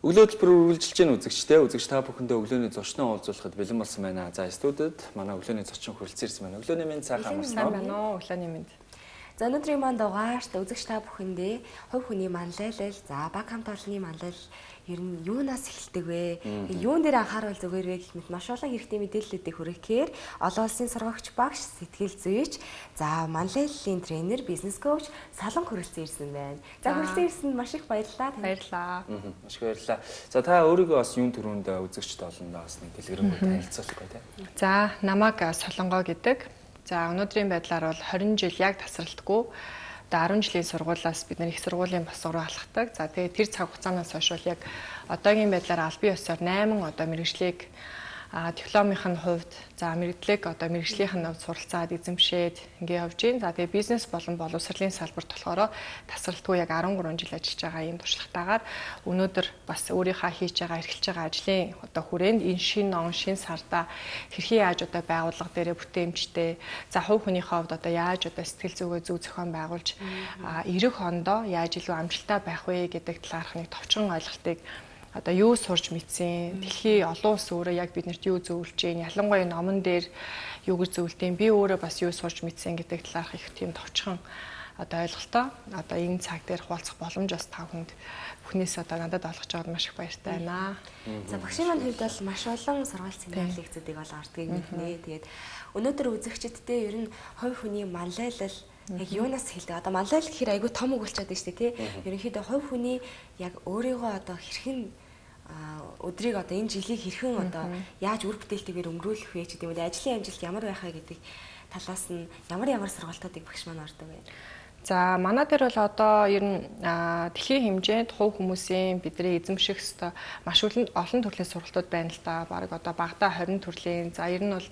Өглөө төлбөр үргэлжилж гэн үзэгчтэй үзэгч та бүхэндээ өглөөний зочноо уулзуулахад бэлэн болсон байна. За студид манай өглөөний зочин хүрэлцэн ирсэн байна. Өглөөний мэнд сайхан амарсан байна уу? Өглөөний мэнд. За өнөөдрийн маань дугаарт үзэгч та бүхэндээ хувь хүний манлайлал, за баг хамт олонны манлайлал ер нь юунаас эхэлдэг вэ? Юун дээр анхаарал зүгээр вэ гэх мэт маш олон хэрэгтэй мэдээллүүдийг хүргэхээр олон улсын сургагч багш, сэтгэл зүйч, за манлайллын тренер, бизнес коуч Салан хүрэлцэн ирсэн байна. За хүрэлцэн ирсэнд маш их баярлалаа. Баярлалаа. Маш их баярлалаа. За та өөрийгөө бас юун төрөнд үзэгчд олондоо бас нэг дэлгэрэнгүй танилцуулах бай таа. За намайг Солонгоо гэдэг. За өнөөдрийн байдлаар бол 20 жил яг тасралтгүй 10 жилийн сургуулиас бид их сургуулийн босго руу алхдаг. За тэгээд тэр цаг хугацаанаас хойш бол яг одоогийн байдлаар аль бие ёсоор 8 одоо мэргэжлийг дипломын хувьд за мэрэгдлэг одоо мэргэжлийнх нь хувьд суралцаад эзэмшээд ингээ явж байна. За тэгээ бизнес болон боловсролын салбарт болохоор тасралтгүй яг 13 жил ажиллаж байгаа ийм туршлагатаагаар өнөөдөр бас өөрийнхөө хийж байгаа эрхэлж байгаа ажлын одоо хүрээнд энэ шинэ он шинэ сарда хэрхэн яаж одоо байгууллага дээрээ бүтээмжтэй за хувь хүнийхээ хувьд одоо яаж одоо сэтгэл зүгөө зөв зохион байгуулж ирэх ондоо яаж илүү амжилттай байх вэ гэдэг талаарх нэг товчхон ойлголтыг одоо юу сурч мэдсэн, дэлхийн олон улс өөрөө яг биднэрт юу зөвлөж байна, ялангуяа номон дээр юу гэж зөвлөдөм, би өөрөө бас юу сурч мэдсэн гэдэг талаарх их тийм товчхон одоо ойлголтоо одоо энэ цаг дээр хуваалцах боломж бас та бүхэнд бүхнээс одоо надад олгож байгаад маш их баяртай байна. За багшийн маань хувьд бол маш олон сургаалт семинар лекцүүдийг бол ордгийг мэднэ. Тэгээд өнөөдөр үзэгчдтэй ер нь хувь хүний манлайлал яг юунаас хэлдэг. Одоо манлайлал гэхээр айгүй том үг болчиход байна шүү дээ, тий. Ерөнхийдөө хувь хүний яг өөрийгөө одоо хэрхэн өдрийг одоо энэ жилийг хэрхэн одоо яаж үр бүтээлтэйгээр өнгөрүүлэх вэ гэдэг юм уу, ажлын амжилт ямар байхаа гэдэг талаас нь ямар сургалтуудыг багш маань ордог вэ? За манай дээр бол одоо ер нь дэлхийн хэмжээнд хувь хүмүүсийн бидний эзэмших ёстой маш олон төрлийн сургалтууд байна л да. Бараг одоо багада 20 төрлийн. За ер нь бол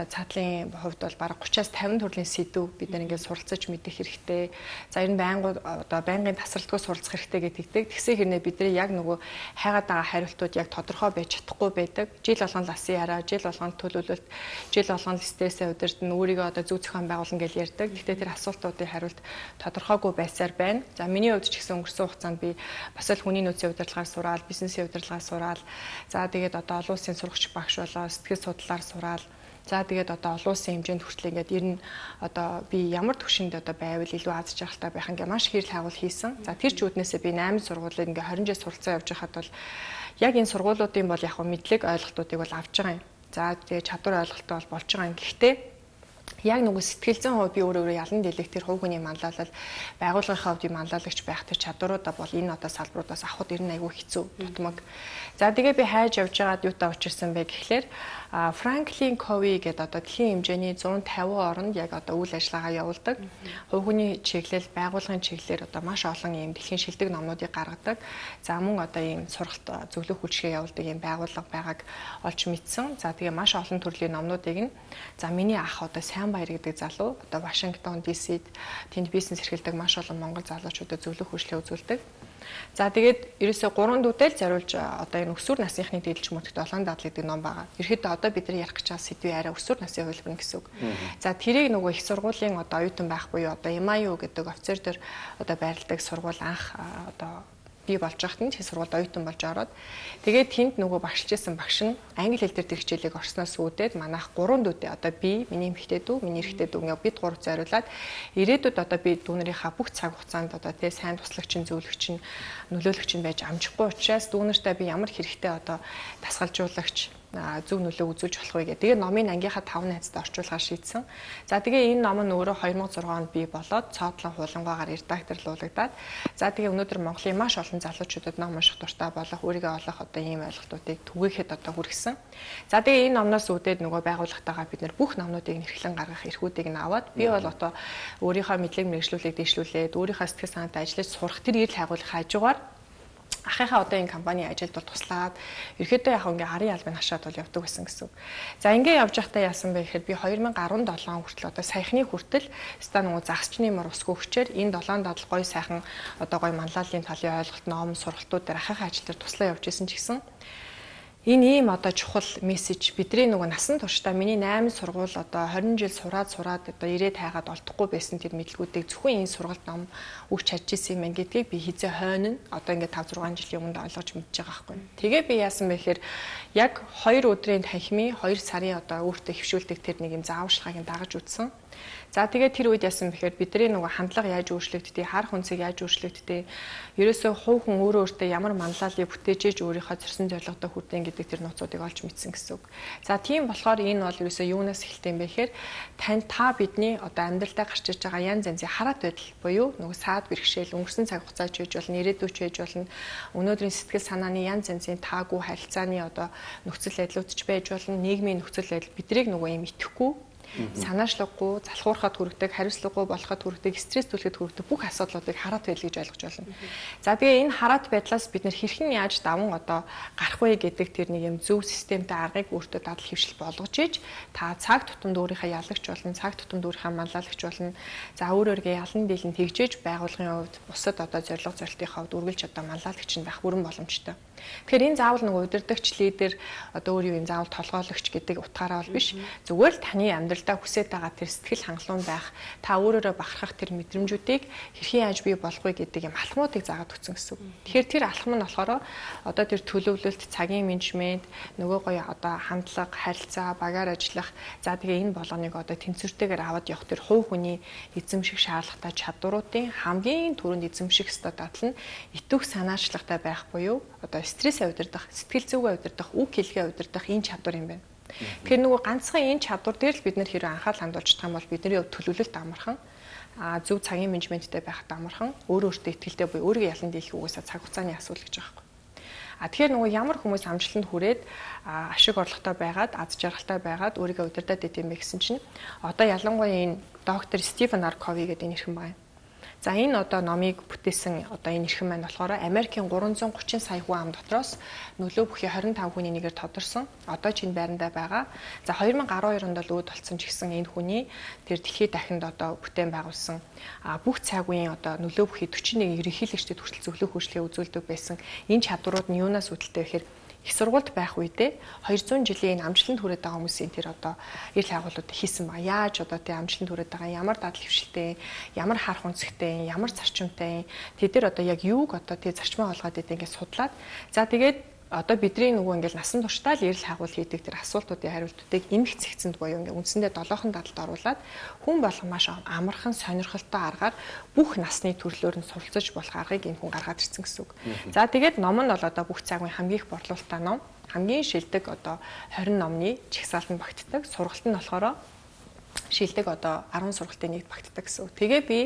цаатлын хувьд бол бараг 30-аас 50 төрлийн сэдв бид нар ингээд суралцаж мэдэх хэрэгтэй. За энэ байнгын тасралтгүй суралцах хэрэгтэй гэдэг. Тэгсэн хэрнээ бидний яг нөгөө хайгаад байгаа хариултууд яг тодорхой байж чадахгүй байдаг. Жил болгон ласын яраа, жил болгон төлөвлөлт, жил болгон стрессээ удирдан өөрийгөө одоо зөв зохион байгуулна гэж ярьдаг. Гэхдээ тэр асуултуудын хариулт тодорхойгүй байсаар байна. За миний хувьд ч гэсэн өнгөрсөн хугацаанд би бас л хүний нөөцийн удирдлагаар сураал, бизнесийн удирдлагаар сураал. За тэгээд одоо олон улсын сурагч багш болоо сэтгэл судлаар сураал. За тэгээд одоо олон улсын хэмжээнд хүртэл ингээд ер нь одоо би ямар төвшөнд одоо байвал илүү аз жаргалтай байх ингээ маш хэрэл хагуул хийсэн. За тэр ч үднээсээ би 8 сургуулийг ингээ 20 жил суралцаа явж байхад бол яг энэ сургуулиудын бол яг мэдлэг ойлголтуудыг бол авч байгаа юм. За тэгээд чадвар ойлголттой бол болж байгаа юм. Гэхдээ яг нөгөө сэтгэл зүйн хувьд би өөрөө ялан дэлгэх тэр хувь хүний манлайлал байгууллагын хувьд манлайлагч байх тэр чадваруудаа бол энэ одоо салбаруудаас авахд ер нь айгүй хэцүү дутмаг. За тэгээ би хайж явж байгаад юутай учирсан бэ гэхлээр Франклин Кови гэдэг одоо дэлхийн хэмжээний 150 оронд яг одоо үйл ажиллагаа явуулдаг. Хувь хүний чиглэл, байгууллагын чиглэлээр одоо маш олон ийм дэлхийн шилдэг номнуудыг гаргадаг. За мөн одоо ийм сургалт зөвлөх үйлчилгээ явуулдаг ийм байгууллага байгааг олж мэдсэн. За тэгээ маш олон төрлийн номнуудыг нь за миний ах одоо Баяр гэдэг залуу одоо Вашингтон DC-д тэнд бизнес эрхэлдэг маш олон монгол залуучуудад зөвлөх үйлчлэл үзүүлдэг. За тэгээд ерөөсөө 3 дүүтэй л зориулж одоо энэ өсвөр насныхны дээлж мөрөгт олон дадал гэдэг ном байгаа. Ерөөхдөө одоо бид нар ярих гэж байгаа сэдвийн арай өсвөр насны хөлбөр гэсэн үг. За тэрийг нөгөө их сургуулийн одоо оюутан байхгүй юу одоо MIU гэдэг офицер дээр одоо байрладаг сургууль анх одоо би болж байхад нь тэр сургуульд оюутан болж ороод тэгээд тэнд нөгөө багшилжсэн багш нь англи хэл дээр тэр хичээлийг орсноос үүдээд манайх 3 дүүтэй одоо би миний эмэгтэй дүү миний эрэгтэй дүү ингээд бид 3 зориулаад ирээдүйд одоо би дүүнэрийнхаа бүх цаг хугацаанд одоо тий сайн туслагч зөвлөгч нөлөөлөгч байж амжихгүй учраас дүүнэртээ би ямар хэрэгтэй одоо дасгалжуулагч зөв нөлөө үзүүлж болох вэ гэдэг. Тэгээ номын ангийнхаа 5 найзад орчуулахаар шийдсэн. За тэгээ энэ ном нь өөрөө 2006 онд бий болоод цоотлон хуулангаагаар редакторлуулагдаад за тэгээ өнөөдөр Монголын маш олон залуучуудад ном унших дуртай болох, өөрийгөө олох одоо ийм ойлголтуудыг түгээхэд одоо хүргэсэн. За тэгээ энэ номноос үүдээд нөгөө байгууллагатайгаа бид нэр бүх номнуудыг нэрхлэн гаргах эрхүүдийг нь аваад би бол одоо өөрийнхөө мэдлэг мэргэжлүүлэг дэвшлүүлээд өөрийнхөө сэтгэл санаатай ажиллаж сурах тэр эрэл хайгуулах хажуугаар ахыхаа одоо энэ компани ажилд бол туслаад ерөөдөө яг ингээ харын албаны хашаад бол явдаг байсан гэсэн. За ингээ явж байхдаа яасан бэ гэхээр би 2017 он хүртэл одоо саяхны хүртэл ста нөгөө загсчны мөр усгүй хүчээр энэ 7 дадал гоё сайхан одоо гоё манлайлалын талын ойлголт ном сургалтууд дээр ахыхаа ажил дээр туслаа явж исэн ч гэсэн Энэ ийм одоо чухал мессеж бидний нөгөө насан туршдаа миний 8 сургууль одоо 20 жил сураад одоо ирээд хайгаад олдохгүй байсан тэр мэдлгүүдийг зөвхөн энэ сургалт ном өгч чадж исэн юм гэдгийг би хизээ хойно одоо ингээд 5 6 жилийн өмнө ойлгож мэдж байгаа байхгүй. Тэгээ би яасан бэ гэхээр яг 2 өдрийн танхимын 2 сарын одоо өөртөө хөвшүүлдэг тэр нэг юм зааварчилгааг дагаж үзсэн. За тэгээд тэр үед яасан бэхээр бидний нөгөө хандлага яаж өөрчлөгддөг, харах үнцийг яаж өөрчлөгддөг, ерөөсөө хувь хүн өөртөө ямар манлайлалыг бүтээж өөрийнхөө зорьсон зорилгодоо хүрдэн гэдэг тэр нууцуудыг олж мэдсэн гэсэн үг. За тийм болохоор энэ бол ерөөсөө юунаас эхэлтэй юм бэ гэхээр та бидний одоо амьдралдаа гарч иж байгаа янз янзын хараат байдал буюу нөгөө саад бэрхшээл, өнгөрсөн цаг хугацаач байж болно, ирээдүйч байж болно, өнөөдрийн сэтгэл санааны янз янзын таагүй харилцааны одоо нөхцөл байдлуудч байж болно, нийгмийн нөхцөл байдал бидрийг нөгөө юм итгэхгүй санаачлаггүй, залхуурахад хүргэдэг, хариуцлагагүй болоход хүргэдэг, стресс түлхэд хүргэдэг бүх асуудлуудыг хараат байдал гэж ойлгож байна. За тэгээ энэ хараат байдлаас бид нэр хэрхэн яаж даван одоо гарах вэ гэдэг тэр нэг юм зөв системтэй аргыг өөртөө дадал хэвшил болгож иж та цаг тутамд өөрийнхөө ялагч болно, цаг тутамд өөрийнхөө манлайлагч болно. За өөрөөргөө ялан дийлэн тэгжээж байгууллагын хувьд бусад одоо зорилго зорилтынхаа хувьд үргэлж одоо манлайлагч нь байх бүрэн боломжтой. Тэгэхээр энэ заавал нэг удирдагч лидер одоо өөр юм заавал толгойлогч гэдэг утгаараа бол биш. Зүгээр л таны амьдралдаа хүсэж байгаа тэр сэтгэл хангалуун байх, та өөрөөрөө бахархах тэр мэдрэмжүүдийг хэрхэн яаж бий болох вэ гэдэг юм алхмуудыг заагаад өгсөн гэсэн үг. Тэгэхээр тэр алхам нь болохоор одоо тэр төлөвлөлт, цагийн менежмент, нөгөө гоё одоо хандлага, харилцаа, багаар ажиллах, за тэгээ энэ болгоныг одоо тэнцвэртэйгээр аваад явах тэр хувь хүний эзэмших шаардлагатай чадваруудын хамгийн түрүүнд эзэмших ёстой дадал нь итвэх санаачлагтай байх буюу одоо стресс удирдах, сэтгэл зүгээ удирдах, үг хэлгээ удирдах энэ чадвар юм байна. Тэгэхээр нөгөө ганцхан энэ чадвар дээр л бид нэр хэрэв анхаарал хандуулж байгаа юм бол бидний төлөвлөлт амархан, зөв цагийн менежменттэй байхад амархан, өөртөө ихтэй буюу өөрийгөө ялан дийлэх үгүйсээ цаг хугацааны асуудал гэж байгаа юм. Тэгэхээр нөгөө ямар хүмүүс амжилтанд хүрээд ашиг орлоготой байгаад, аз жаргалтай байгаад өөрийгөө удирдах гэдэм бэ гэсэн чинь одоо ялангуяа энэ доктор Стивен Кови гэдэг нэрхэн байна. За энэ одоо номыг бүтээсэн одоо энэ эрхэм маань болохоор Америкийн 330 сая хүн ам дотроос нөлөө бүхий 25 хүний нэгээр тодорсон. Одоо чинь байрандаа байгаа. За 2012 онд л үүд болсон ч гэсэн энэ хүний тэр дэлхийд дахинд одоо бүтээн байгуулсан бүх цаг үеийн одоо нөлөө бүхий 41 ерөнхийлөгчдөд хүртэл зөвлөх үйлчлэгээ үзүүлдэг байсан. Энэ чадварууд нь юунаас үүдэлтэй вэ гэхээр их сургуульд байх үедээ 200 жилийн амжилтанд хүрээд байгаа хүмүүсийн тэр одоо эрэл хайгуулууд хийсэн ба яаж одоо тий амжилтанд хүрээд байгаа ямар дадал хвшилтэй, ямар харах үнцгтэй, ямар зарчимтай тэд нар одоо яг юуг одоо тий зарчмаа олгоод идэв ингээд судлаад за тэгээд одоо бидний нөгөө ингээл насан туршдаа л эрэл хайгуул хийдэг тэр асуултуудын хариултуудыг эмх цэгцэнд буюу ингээ үндсэндээ 7хон дадалд оруулаад хүн болгон маш амархан сонирхолтой аргаар бүх насны төрлөөр нь суралцж болох аргыг энэ хүн гаргаад ирсэн гэсэн үг. За тэгээд ном нь бол одоо бүх цаг үеийн хамгийн их борлуулалттай ном, хамгийн шилдэг одоо 20 номны жагсаалтанд багтдаг, сургалт нь болохоор шилдэг одоо 10 сургалтын нэгт багтдаг гэсэн үг. Тэгээ би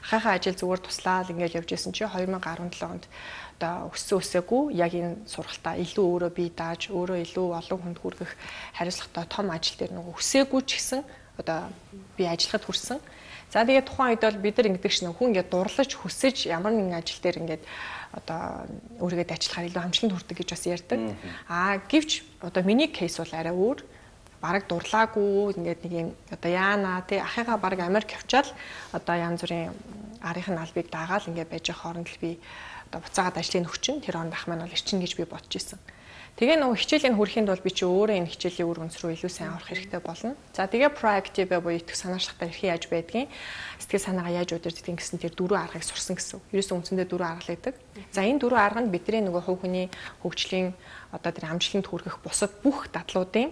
ахыхаа ажил зүгээр туслаад ингээд явж исэн чи 2017 онд одоо өсөөгүй яг энэ сургалтаа илүү өөрөө бие дааж өөрөө илүү олон хүнд хүргэх хариуцлагатай том ажил дээр нөгөө өсөөгүй ч гэсэн одоо би ажиллахад хүрсэн. За тэгээд тухайн үед бол бид нар ингэдэг шнэ хүн ингээд дурлаж хүсэж ямар нэгэн ажил дээр ингээд одоо өөрийгөө ажиллахаар илүү амжилтанд хүрдэг гэж бас ярьдаг. Гэвч одоо миний кейс бол арай өөр. Бараг дурлаагүй ингээд нэг юм одоо яана тий ахыгаа бараг Америк явчаал одоо янз бүрийн арийнхын албыг даагаал ингээд байж байгаа хооронд л би одоо буцаагаад ажлыг өгчин тэр онд ах маань бол ирчин гэж би бодож исэн. Тэгээ нөгөө хичээлийн хүрэхэд бол би чи өөрөө энэ хичээлийн үр үнс рүү илүү сайн орох хэрэгтэй болно. За тэгээ proactive буюу итгэх санаачлагтай хэрхэн яаж байдгийг сэтгэл санаагаа яаж удирддаг гэсэн тэр дөрвөн аргыг сурсан гэсэн. Ерөөсөн үндсэндээ дөрвөн арга л гэдэг. За энэ дөрвөн арга нь бидний нөгөө хувь хүний хөгжлийн одоо тэр амжилтанд хүргэх бусад бүх дадлуудын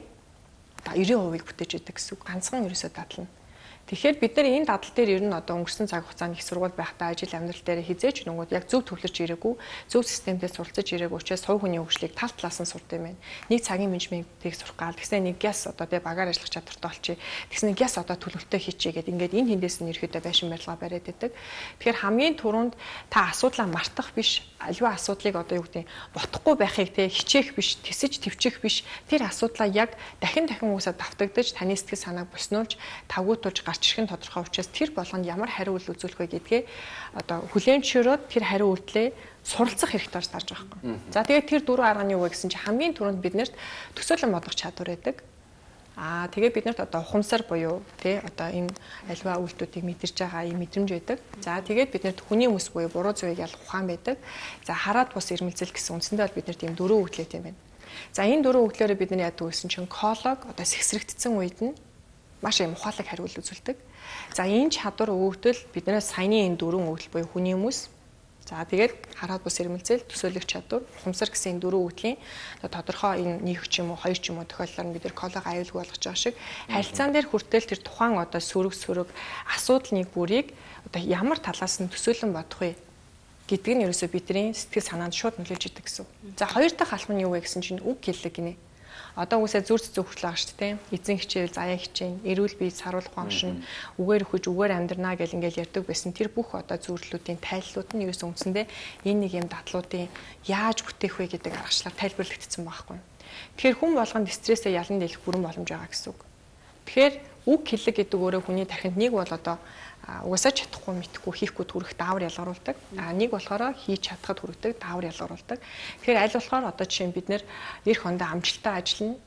90% бүтээж өгдөг гэсэн үг. Ганцхан ерөөсөө дадал нь. Тэгэхээр бид нар энэ дадал дээр ер нь одоо өнгөрсөн цаг хугацаанд их сургууль байхдаа ажил амьдрал дээр хизээч нөгөөд яг зөв төвлөрч ирээгүй, зөв системтэй суралцаж ирээгүй учраас хувь хүний хөгжлийг тал талаас нь сурдаг юм байна. Нэг цагийн менежментийг сурах гал тэгснэ нэг гяс одоо тэгээ багаар ажиллах чадвартай болчих. Тэгснэ гяс одоо төлөвлөлтөө хийчихье гэдэг ингээд энэ хэндээс нь ерөөдөө байшин барилга бариад байдаг. Тэгэхээр хамгийн түрүүнд та асуудлаа мартах биш, аливаа асуудлыг одоо юу гэдэг ботохгүй байхыг те хичээх биш, тэсэж твчих биш. Тэр асуудлаа яг дахин уусаа давтагдаж таны сэтгэл санааг боснуулж тавгуутуулж чихэн тодорхой учраас тэр болгонд ямар хариу үйл үзүүлэх вэ гэдгээ одоо хүлээмжшөөрөөд тэр хариу үйлдэлээ суралцах хэрэгтэй болж тарж байгаа юм. За тэгээд тэр дөрвөн арганы юу вэ гэсэн чинь хамгийн түрүүнд биднэрт төсөөлөн бодлого чадвар байдаг. Тэгээд биднэрт одоо ухамсар буюу тий одоо энэ альва үйлдэлүүдийг мэдэрч байгаа юм мэдрэмж байдаг. За тэгээд биднэрт хүний хүмүүс буюу буруу зүйлийг ялах ухаан байдаг. За хараад бус ирмэлзэл гэсэн үндсэндээ бол биднэрт ийм дөрвөн үйлдэлтэй юм байна. За энэ дөрвөн өглөөрөө бид нар яадаг гэсэн чинь колог одоо сэхсрэгдсэн үед нь маш их ухаалаг хариулт үзүүлдэг. За энэ чадвар өгөгдөл биднээс саяны энэ дөрвөн өгдөл буюу хүний хүмүүс. За тэгээд хараад бус ирмэлзэл төсөөлөх чадвар, ухамсар гэсэн энэ дөрвөн өгдлийн тодорхой энэ нэг ч юм уу хоёр ч юм уу тохиолдолд бид нар колог аюулгүй болгож байгаа шиг харилцаан дээр хүртэл тэр тухайн одоо сөрөг асуудал нэг бүрийг одоо ямар талаас нь төсөөлөн бодох вэ гэдг нь ерөөсөө бидний сэтгэл санаанд шууд нөлөөлж идэг гэсэн. За хоёр дахь алхам нь юу вэ гэсэн чинь үг хэллэг гинэ. Одоо үгүйсээ зүрх зөвхөрлөө байгаа шүү дээ. Эзэн хичээл, заяа хичээн, эрүүл бие саруулах оншин, үгээр өгөж, үгээр амьдрнаа гэл ингээл ярьдаг байсан. Тэр бүх одоо зөвлөлүүдийн тайллууд нь ерөөсөө үндсэндээ энэ нэг юм дадлуудын яаж бүтээх вэ гэдэг аргачлаар тайлбарлагдсан байхгүй. Тэгэхээр хүн болгонд стрессээ ялан дийлэх бүрэн боломж байгаа гэсэн үг. Тэгэхээр үг хэллэг гэдэг өөрөө хүний тархинд нэг бол одоо угаасаа чадахгүй мэдхгүй хийхгүй төрөх даавар ялгаруулдаг. Нэг болохоор хийж чадхад хүргэдэг даавар ялгаруулдаг. Тэгэхээр аль болохоор одоо жишээ нь бид нэр эх хондоо амжилттай ажиллана.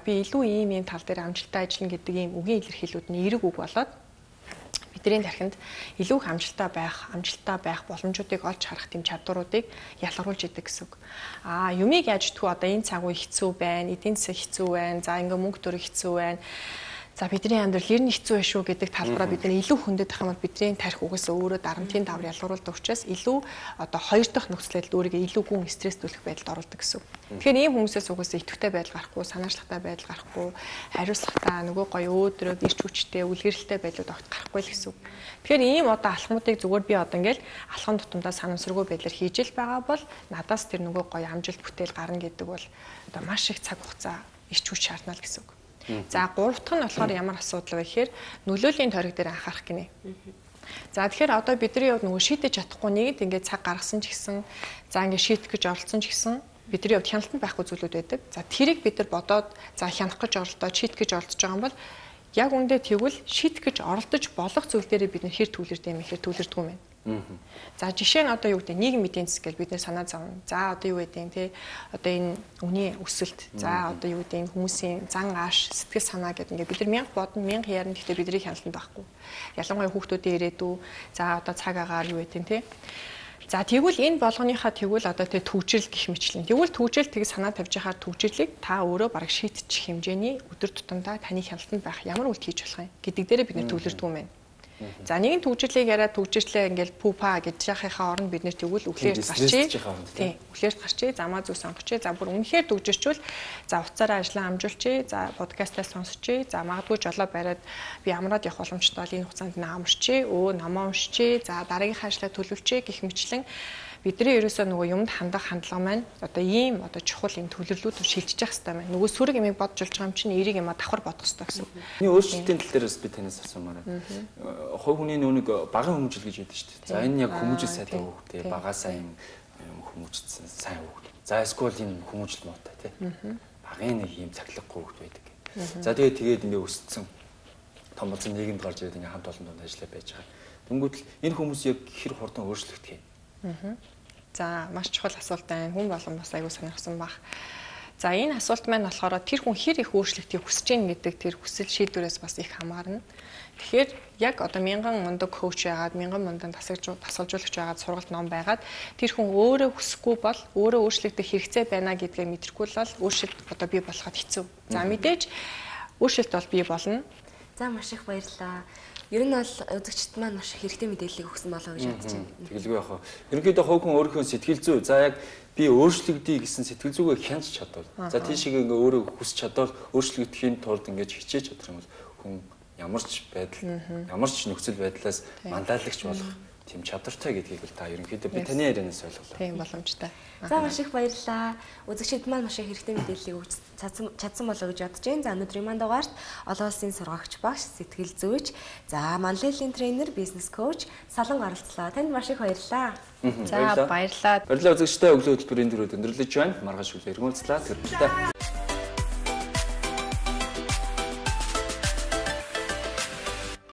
Би илүү ийм тал дээр амжилттай ажиллана гэдэг ийм үгийн илэрхийлүүд нь эерэг үг болоод бидний тархинд илүү их амжилттай байх боломжуудыг олж харах тийм чадваруудыг ялгаруулж идэг гэсэн үг. Юмыг яаж тгүү одоо энэ цаг үе хэцүү байна, эдийн засаг хэцүү байна, за ингээ мөнгө төрөх хэцүү байна. За бидний амьдрал ер нь хэцүү байх шүү гэдэг талбараа бид нар илүү хөндөд ах юм бол бидний тарих угаасаа өөрөө дарамтын давар ялгаруулдаг учраас илүү одоо хоёр дахь нөхцөл байдал өөрийгөө илүү гүн стресстүүлэх байдалд оруулдаг гэсэн. Тэгэхээр ийм хүмүүсээс угаасаа идэвхтэй байдал гарахгүй, санаачлагтай байдал гарахгүй, хариуцлагатай нөгөө гоё өөдрөг ирч хүчтэй, үлгэрэлтэй байдлууд огт гарахгүй л гэсэн. Тэгэхээр ийм одоо алхмуудыг зүгээр би одоо ингээл алхам тутамдаа санамсаргүй байдлаар хийж л байгаа бол надаас тэр нөгөө гоё амжилт бүтээл гарна гэдэг бол одоо маш их цаг хугацаа ирч хүч шаардна л гэсэн үг. За гурав дахь нь болохоор ямар асуудал вэ гэхээр нөлөөлийн тойрог дээр анхаарах гинэ. За тэгэхээр одоо бидний хувьд нөгөө шийдэж чадахгүй нэгд ингээд цаг гаргасан ч гэсэн за ингээд шийдэх гэж оролцсон ч гэсэн бидний хувьд хяналтанд байхгүй зүйлүүд байдаг. За тэрийг бид нар бодоод за хянах гэж оролдоод шийдэх гэж оролдож байгаа юм бол яг үндэ тэгвэл шийдэх гэж оролдож болох зүйл дээрээ бид нэр хэр төвлөрдөг юм ихэр төвлөрдөг юм байна. За жишээ нь одоо юу гэдэг нийгмийн эдийн засаг гэж бид нэ санаа зовно. За одоо юу гэдэг те одоо энэ үний өсөлт. За одоо юу гэдэг хүмүүсийн зан ааш сэтгэл санаа гэдэг ингээд бид нар 1000 бодно 1000 ярина гэхдээ бидний хяналтанд байхгүй. Ялангуяа хүүхдүүдийн ирээдүй. За одоо цаг агаар юу гэдэг те. За тэгвэл энэ болгоныхаа тэгвэл одоо тэ төвчрэл гэх мэтлэн. Тэгвэл төвчрэл тийг санаа тавьж яхаар төвчрлийг та өөрөө бараг шийдчих хэмжээний өдөр тутамдаа таны хяналтанд байх ямар үйлдэл хийж болох юм гэдэг дээрээ бид нэр төвлөрдөг юм байна. За нэгэн төвчрлийг яриад төвчрлээ ингээл пупа гэж яхахынхаа оронд бид нэр тэгвэл өглөөрт гарчээ. Тийм. Өглөөрт гарчээ, замаа зүг сонгочээ. За бүр үнэхээр төвжирчүүл за уцаараа ажиллаа амжуулчээ. За подкастаа сонсчээ. За магадгүй жолоо бариад би амраад явах боломжтой бол энэ хугацаанд намарчээ. Намаа уншчээ. За дараагийнхаа ажлаа төлөвлөчээ гэх мэтчлэн бидний ерөөсөө нөгөө юмд хандах хандлага маань одоо ийм одоо чухал юм төлөвлөлүүд шилжиж явах хэрэгтэй байна. Нөгөө сүрэг юмыг бодж болж байгаа юм чинь эерэг юм давхар бодох хэрэгтэй гэсэн. Миний өөрчлөлтийн тал дээрээс би танаас асуумаар байна. Хувь хүний нүг багын хүмүүжил гэж яддаг шүү дээ. За энэ яг хүмүүжил сайтай хүүхдээ багаа сайн хүмүүжсэн сайн хүүхд. За эсвэл энэ хүмүүжил муутай тий. Багын нэг юм цаглаггүй хүүхд байдаг. За тэгээд ингээ өссөн том болсон нийгэмд гарч ирээд ингээ хамт олон донд ажиллаа байж байгаа. Тэнгүүд л энэ хүмүүс яг хэр хурдан өөрчлөгдөх юм. За маш чухал асуулт байна. Хүн болгон бас аягүй сонирхсан баг. За энэ асуулт маань болохоор тэр хүн хэр их өөрчлөлтийг хүсэж гин гэдэг тэр хүсэл шийдвэрээс бас их хамаарна. Тэгэхээр яг одоо 1000 мундаг коуч яагаад 1000 мундаг тасалжуулагч яагаад сургалт ном байгаад тэр хүн өөрөө хүсэхгүй бол өөрөө өөрчлөгдөх хэрэгцээ байна гэдгээ мэдрэхгүй л өөрчлөлт одоо бий болоход хэцүү. За мэдээж өөрчлөлт бол бий болно. За маш их баярлалаа. Ер нь бол үзэгчд маань маш хэрэгтэй мэдээллийг өгсөн болоо гэж бодож байна. Тэгэлгүй яах вэ? Ерөнхийдөө хувь хүн өөрийнхөө сэтгэл зүй за яг би өөрчлөгдөе гэсэн сэтгэл зүгээ хянаж чадвал. За тийшээ ингээ өөрөө хүсч чадвал өөрчлөгдөхийн тулд ингээ хичээж чадах юм бол хүн ямар ч байдал, ямар ч нөхцөл байдлаас мандаалагч болох тийм чадвартай гэдгийг л та ерөнхийдөө би таны ярианаас ойлголоо. Тийм боломжтой. За маш их баярлалаа. Үзэгчид маань маш их хэрэгтэй мэдээллийг өгч чадсан болоо гэж бодож байна. За өнөөдрийн маань дугаарт олон улсын сургагч багш, сэтгэл зүйч, за манлайлийн тренер, бизнес коуч Салан оролцлоо. Танд маш их баярлалаа. За баярлалаа. Баярлалаа үзэгчдээ өглөө хөтөлбөрийн дөрөв өндөрлөж байна. Маргааш өглөө эргүүлцлээ. Тэр баярлалаа.